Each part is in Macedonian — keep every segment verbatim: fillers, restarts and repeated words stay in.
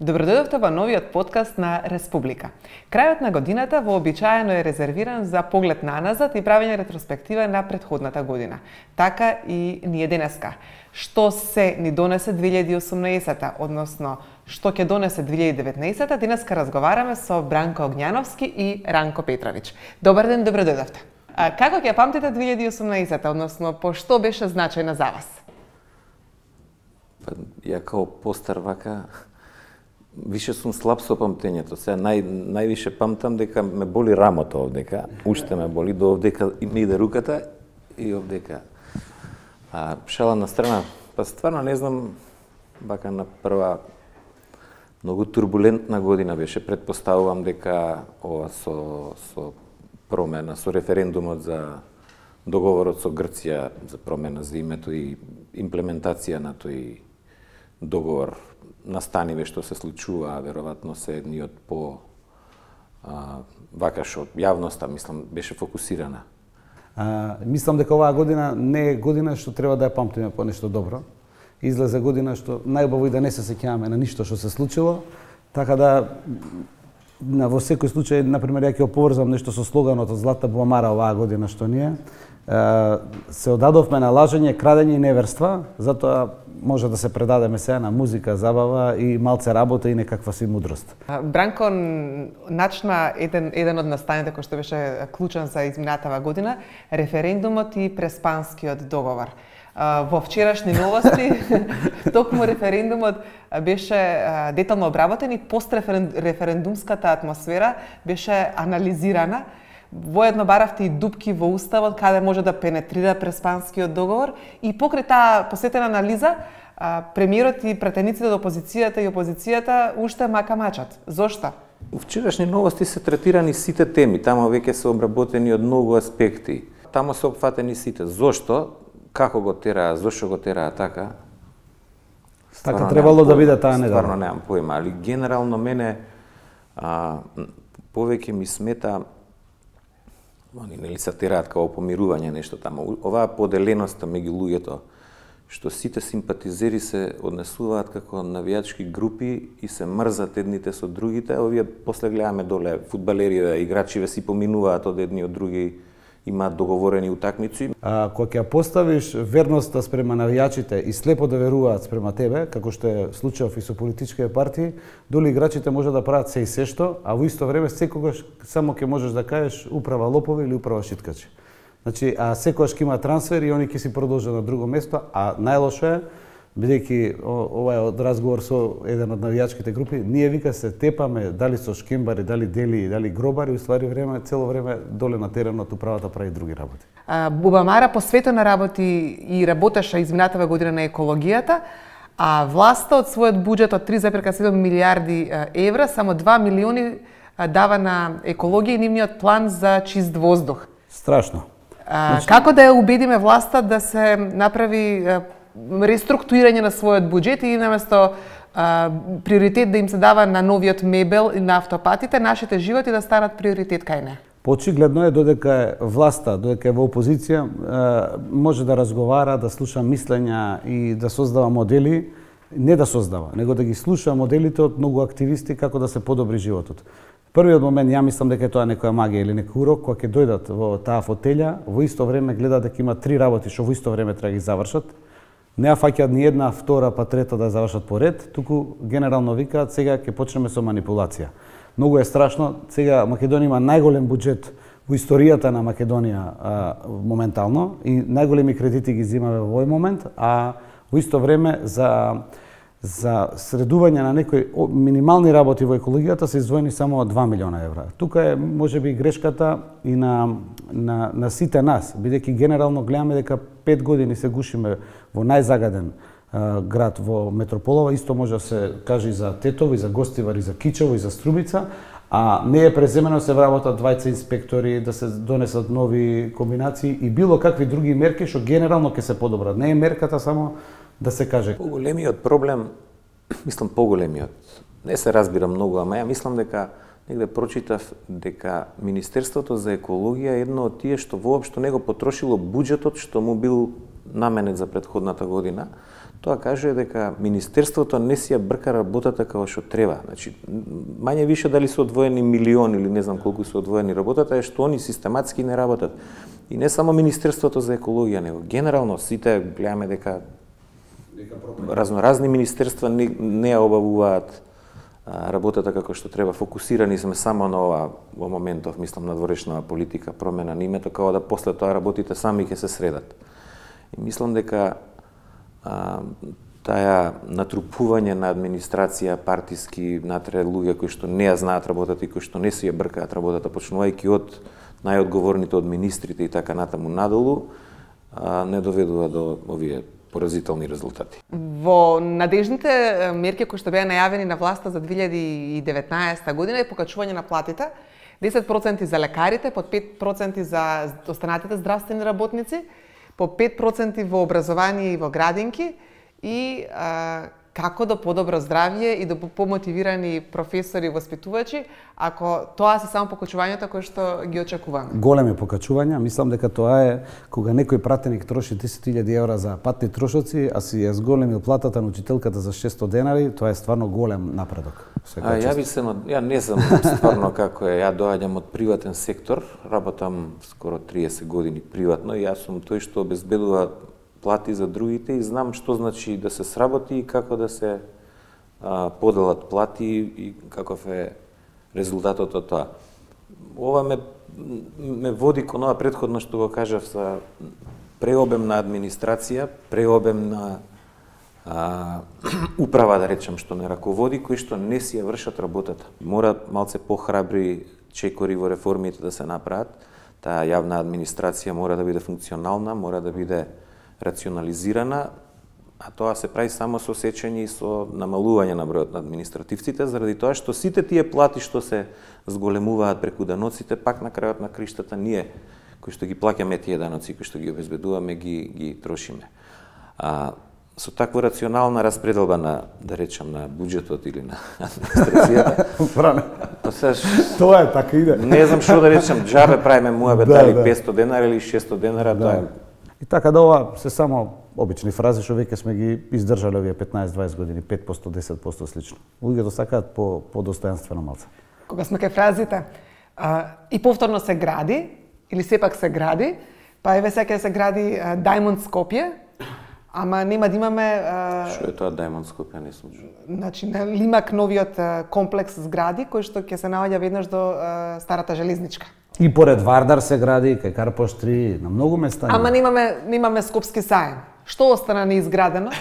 Добродојдовте во новиот подкаст на Республика. Крајот на годината вообичаено е резервиран за поглед наназад и правење ретроспектива на претходната година. Така и ние денеска. Што се ни донесе две илјади и осумнаесета, односно што ќе донесе две илјади и деветнаесета, денеска разговараме со Бранко Огњановски и Ранко Петрович. Добар ден, добродојдовте. А како ќе памтите две илјади и осумнаесета, односно по што беше значајна за вас? Па, ја као постар вака, више сум слаб со памтењето. Сега нај, највише памтам дека ме боли рамото овдека, уште ме боли, до овдека ми иде руката и овдека. А шала на страна, па стварно не знам, вака на прва многу турбулентна година беше. Предпоставувам дека ова со, со промена, со референдумот за договорот со Грција за промена за името и имплементација на тој договор настаниве што се случува, веројатно се едни од по а, вака што јавноста, мислам, беше фокусирана. А, мислам дека оваа година не е година што треба да ја памтиме по нешто добро. Излезе година што најубаво и да не се сеќаваме на ништо што се случило, така да на во секој случај, например, ја ќе оповрзам нешто со слоганот од Златна буамара оваа година што ние се одадовме на лажење, крадење и неверства, затоа може да се предадеме сега на музика, забава и малце работа и некаква си мудрост. Бранко начна еден, еден од настаните кој што беше клучен за изминатава година, референдумот и Преспанскиот договор. Во вчерашни новости, токму референдумот беше детално обработен и постреферендумската атмосфера беше анализирана. Воедно баравте и дупки во уставот каде може да пенетрира Преспанскиот договор и покрај таа посветена анализа, премиерот и пратениците од опозицијата и опозицијата уште мака мачат. Зошто? У вчерашни новости се третирани сите теми, тамо веќе се обработени од многу аспекти. Тамо се опфатени сите. Зошто? Како го тераа, зошто го тераа така? Така требало да биде таа недела. Стварно немам појма, али генерално мене а, повеќе ми смета, они нели се тераат као помирување нешто тамо. Оваа поделеноста меѓу луѓето, што сите симпатизери се однесуваат како навијачки групи и се мрзат едните со другите, овие после гледаме доле фудбалериве, играчиве си поминуваат од едни од други, имаат договорени утакмици. А кога ќе поставиш верноста спрема навијачите и слепо да веруваат спрема тебе, како што е случајов и со политичките партии, доли играчите може да прават се и се што, а во исто време секогаш само ќе можеш да кажеш управа лопови или управа шиткачи. Значи, а секогаш ќе има трансфер и они ќе си продолжат на друго место, а најлошо е, бидејќи ова е од разговор со еден од навијачките групи, ние вика се тепаме дали со шкембари, дали дели, дали гробари, уствари време, цело време доле на теренот управата прави други работи. Бубамара посветено работи и работеше изминатава година на екологијата, а власта од својот буџет од три зарез и седум милијарди евра, само два милиони дава на екологија и нивниот план за чист воздух. Страшно. А, значи... Како да ја убедиме власта да се направи реструктурирање на својот буџет и наместо а, приоритет да им се дава на новиот мебел и на автопатите, нашите животи да станат приоритет кај не? Очигледно е додека е власта, додека е во опозиција, може да разговара, да слуша мислења и да создава модели, не да создава, него да ги слуша моделите од многу активисти како да се подобри животот. Првиот момент, ја мислам дека е тоа некоја магија или некој урок, кога ќе дојдат во таа фотелја, во исто време гледаат дека има три работи што во исто време треба да ги завршат. Не ја фаќаат ни една, втора, па трета да завршат по ред, туку генерално викаат сега ќе почнеме со манипулација. Многу е страшно, сега Македонија има најголем буџет во историјата на Македонија а, моментално и најголеми кредити ги земаме во овој момент, а во исто време за за средување на некои минимални работи во екологијата се издвоени само два милиона евра. Тука е можеби грешката и на на на сите нас, бидејќи генерално гледаме дека пет години се гушиме во најзагаден а, град во метрополава, исто може да се каже и за Тетово, и за Гостивар, и за Кичево, и за Струмица, а не е преземено се вработат двајца инспектори, да се донесат нови комбинации и било какви други мерки што генерално ќе се подобрат. Не е мерката само да се каже. Поголемиот проблем, мислам поголемиот, не се разбира многу, ама ја мислам дека негде прочитав дека Министерството за екологија е едно од тие што воопшто не го потрошило буџетот што му бил наменет за претходната година. Тоа кажува дека министерството не си ја брка работата како што треба. Значи, мање више дали се одвоени милиони или не знам колку се одвоени работата е што они систематски не работат. И не само Министерството за екологија, него генерално сите гледаме дека разноразни министерства не, не ја обавуваат работата како што треба. Фокусирани сме само на ова во моментов, мислам на дворешна политика, промена на името, како да после тоа работите сами ќе се средат. И мислам дека а, таа натрупување на администрација, партиски, натре луѓе кои што не ја знаат работата и кои што не си ја бркаат работата, почнувајќи од најодговорните од министрите и така натаму надолу, а, не доведува до овие поразителни резултати. Во надежните мерки кои што беа најавени на власта за две илјади и деветнаесета година е покачување на платите, десет проценти за лекарите, по пет проценти за останатите здравствени работници, по пет проценти во образование и во градинки и а, како до подобро здравје и до помотивирани професори и воспитувачи, ако тоа се само покачувањата кои што ги очекуваме. Големи покачувања, мислам дека тоа е кога некој пратеник троши десет илјади евра за патни трошоци, а си ја зголемил платата на учителката за шестстотини денари, тоа е стварно голем напредок. А ја би се, ја не знам стварно како е, ја доаѓам од приватен сектор, работам скоро триесет години приватно и јас сум тој што обезбедува плати за другите и знам што значи да се сработи и како да се а, поделат плати и каков е резултатот од тоа. Ова ме, ме води кон ова претходно што го кажав за преобемна администрација, преобемна а, управа, да речем, што не раководи, кои што не си ја вршат работата. Мора малце похрабри чекори во реформите да се направат. Таа јавна администрација мора да биде функционална, мора да биде рационализирана, а тоа се прави само со сечење и со намалување на бројот на административците, заради тоа што сите тие плати што се зголемуваат преку даноците, пак на крајот на криштата ние, кои што ги плаќаме тие даноци, кои што ги обезбедуваме, ги, ги трошиме. А, со таква рационална распределба на, да речем, на буџетот или на администрацијата. Тоа е така иде. Не знам што да речем, џабе правиме муабет да, дали да. петстотини денара или шестстотини денара, Да. тоа е. И така да ова се само обични фрази што веќе сме ги издржале овие петнаесет-дваесет години, пет проценти, десет проценти слично. Луѓето сакаат по по достојанствено малце. Кога сме кај фразите, а, и повторно се гради или сепак се гради, па еве сега се гради а, Diamond Скопје, ама нема да имаме а, Што е тоа Diamond Скопје, не сум чул. Значи, на Лимак новиот а, комплекс згради кој што ќе се наоѓа веднаш до а, старата железничка. И поред Вардар се гради, кај Карпош три, на многу места. Ама немаме немаме Скопски сајм. Што остана неизградено?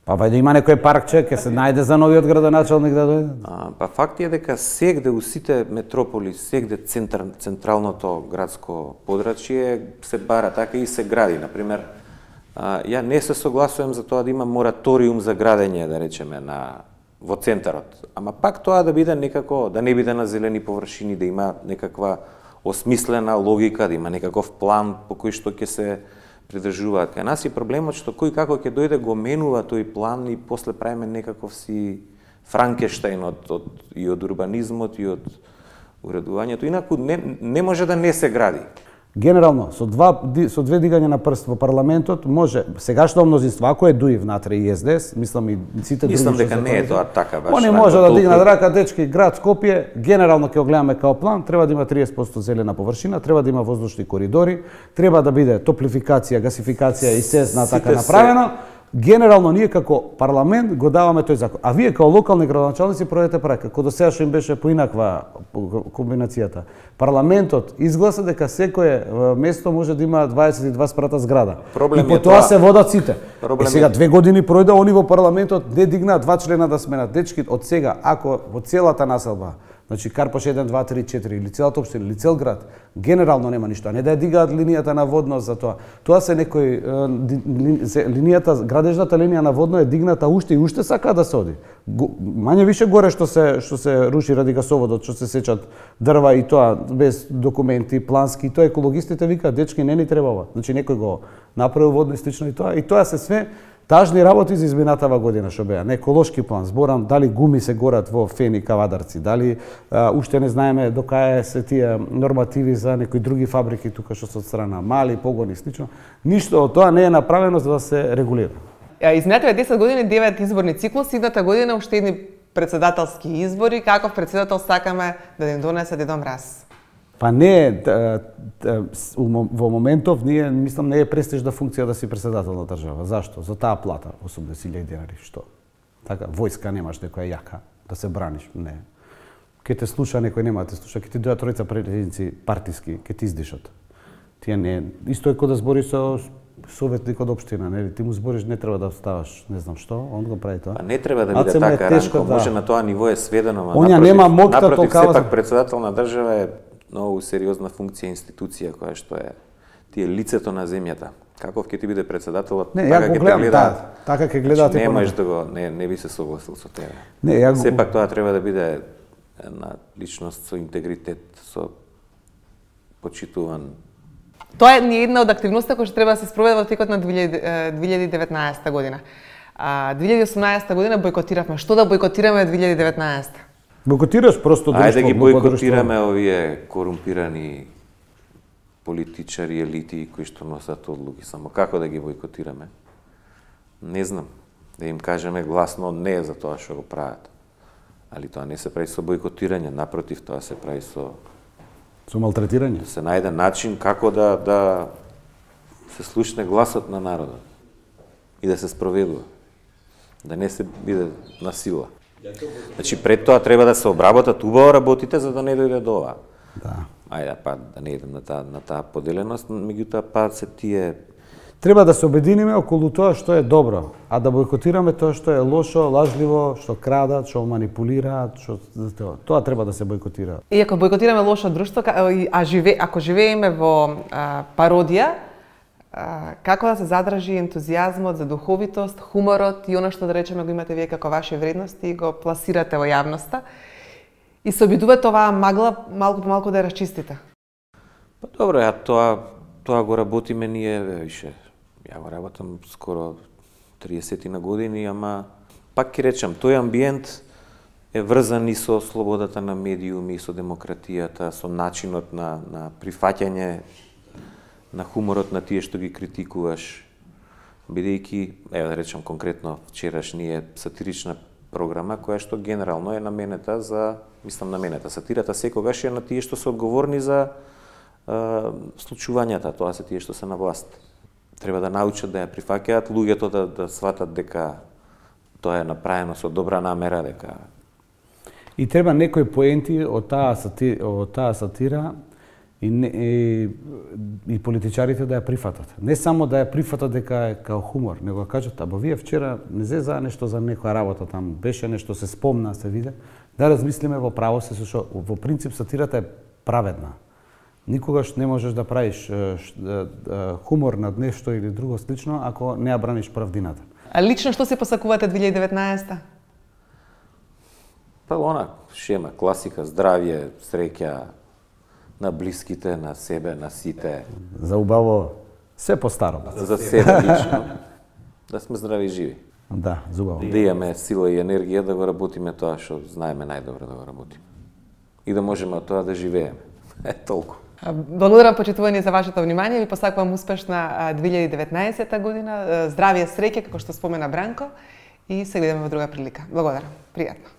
Па вајде има некој паркче, ќе се најде за новиот градоначалник да дојде. А, па факт е дека сегде у сите метрополи, сегде центар, централното градско подрачје се бара така и се гради. Например, а, ја не се согласувам за тоа да има мораториум за градење, да речеме, на во центарот. Ама пак тоа да биде некако, да не биде на зелени површини, да има некаква осмислена логика, да има некаков план по кој што ќе се придржуваат. Кај нас е проблемот што кој како ќе дојде го менува тој план и после правиме некаков си Франкенштајн од, од, и од урбанизмот и од уредувањето. Инаку не, не може да не се гради. Генерално, со, два, со две дигања на прст во парламентот, може, сегашно мнозинство, ако е ДУИ внатре и СДС, мислам и сите други... Мислам дека не е тоа така баш. Они може да дигнат рака, дечки, град Скопје, генерално ќе го гледаме као план, треба да има триесет проценти зелена површина, треба да има воздушни коридори, треба да биде топлификација, гасификација и се зна така направено. Генерално ние како парламент го даваме тој закон. А вие као локални градоначалници проведете прака. Кога до сега што им беше поинаква комбинацијата. Парламентот изгласа дека секое место може да има дваесет и два спрата зграда. Проблем и по тоа се водат сите. Проблем и сега две години пројде, они во парламентот не дигнаа два члена да сменат. Дечки, од сега, ако во целата населба, значи Карпош еден, два, три, четири, или целата општина, или цел град, генерално нема ништо, а не да ја дигаат линијата на водност за тоа. Тоа се некој линијата, градежната линија на водно е дигната уште и уште сака да се оди. Мање више горе што се што се руши ради гасоводот, што се сечат дрва и тоа без документи, плански, и тоа екологистите викаат дечки не ни треба ова. Значи некој го направил водно и слично и тоа, и тоа се све Тажни работи за изминатава година што беа, не еколошки план, зборам дали гуми се горат во Фени Кавадарци, дали а, уште не знаеме до кај се тие нормативи за некои други фабрики тука што се од страна мали погони и слично. Ништо од тоа не е направено за да се регулира. Изминативе десет години, девет изборни циклуси, идната година уште едни председателски избори, каков председател сакаме да им донесе Дедо Мраз? Па не, во моментов ние мислам не е престижна функција да си председател на држава. Зашто? За таа плата, осумдесет илјади денари, што? Така, војска немаш некоја јака да се браниш, не. Ке те слуша некој, нема да те слуша, ке ти дојдат тројца председници партиски, ке ти издишат. Тие не, исто е кога да збориш со советник од општина, нели? Ти му збориш не треба да ставаш, не знам што, он го прави тоа. Па не треба да биде така, Ранко, да. Може на тоа ниво е сведено, ма Оня напротив, нема мокта напротив, толкава... сепак председател на држава е многу сериозна функција, институција која што е ти е лицето на земјата. Каков ќе ти биде председателот, не, така ќе те гледаат. Да, така ќе гледаат. Не можеш да го не не би се согласил со тебе. Не, ја го... Сепак тоа треба да биде една личност со интегритет, со почитуван. Тоа е ни една од активностите кои што треба да се спроведе во текот на две илјади и деветнаесета година. А две илјади и осумнаесета година бойкотиравме. Што да бойкотираме две илјади и деветнаесета? Бойкотираш просто друштво. Ајде да ги бойкотираме друштво. Овие корумпирани политичари, елити кои што носат одлуки. Само како да ги бойкотираме? Не знам. Да им кажеме гласно не за тоа што го прават. Али тоа не се прави со бойкотирање, напротив, тоа се прави со со малтретирање. Да се најде начин како да да се слушне гласот на народот и да се спроведува. Да не се биде на сила. Значи пред тоа треба да се обработат убаво работите за да не дојде до ова. Да. Ајде па да не идем на таа на таа поделеност, меѓутоа па се тие треба да се обединиме околу тоа што е добро, а да бойкотираме тоа што е лошо, лажливо, што крадат, што манипулираат, што тоа, тоа треба да се бойкотира. И ако бойкотираме лошо друштво, а живе, ако живееме во а, пародија, а, како да се задржи ентузијазмот за духовитост, хуморот и она што да речеме го имате вие како ваши вредности и го пласирате во јавноста и се обидувате оваа магла малку по малку да ја расчистите? Па добро, ја тоа тоа го работиме ние више. Ја го работам скоро триесет на години, ама пак ќе речам, тој амбиент е врзан и со слободата на медиуми, и со демократијата, со начинот на, на прифаќање на хуморот на тие што ги критикуваш, бидејќи, ево да речам конкретно, вчерашнија сатирична програма која што генерално е наменета за, мислам наменета, сатирата секогаш е на тие што се одговорни за е, случувањата, тоа се тие што се на власт. Треба да научат да ја прифаќаат, луѓето да, да сватат дека тоа е направено со добра намера, дека и треба некои поенти од таа сатира, од таа сатира и, не, и, и политичарите да ја прифатат. Не само да ја прифатат дека е као хумор, него да кажат, або вие вчера не зе за нешто за некоја работа там, беше нешто се спомна, се виде, да размислиме во право се со во принцип сатирата е праведна. Никогаш не можеш да правиш хумор над нешто или друго слично ако не ја браниш правдината. А лично што се посакувате две илјади и деветнаесета? Па она шема, класика, здравје, среќа на блиските, на себе, на сите. За убаво, се по-старо. За себе лично. Да сме здрави и живи. Да, за убаво. Да имаме сила и енергија да го работиме тоа што знаеме најдобро да го работиме. И да можеме од тоа да живееме. Е, толку. Благодарам почитувани за вашето внимание. Ви посакувам успешна две илјади и деветнаесета година. Здравје, среќа, како што спомена Бранко. И се гледаме во друга прилика. Благодарам. Пријатно.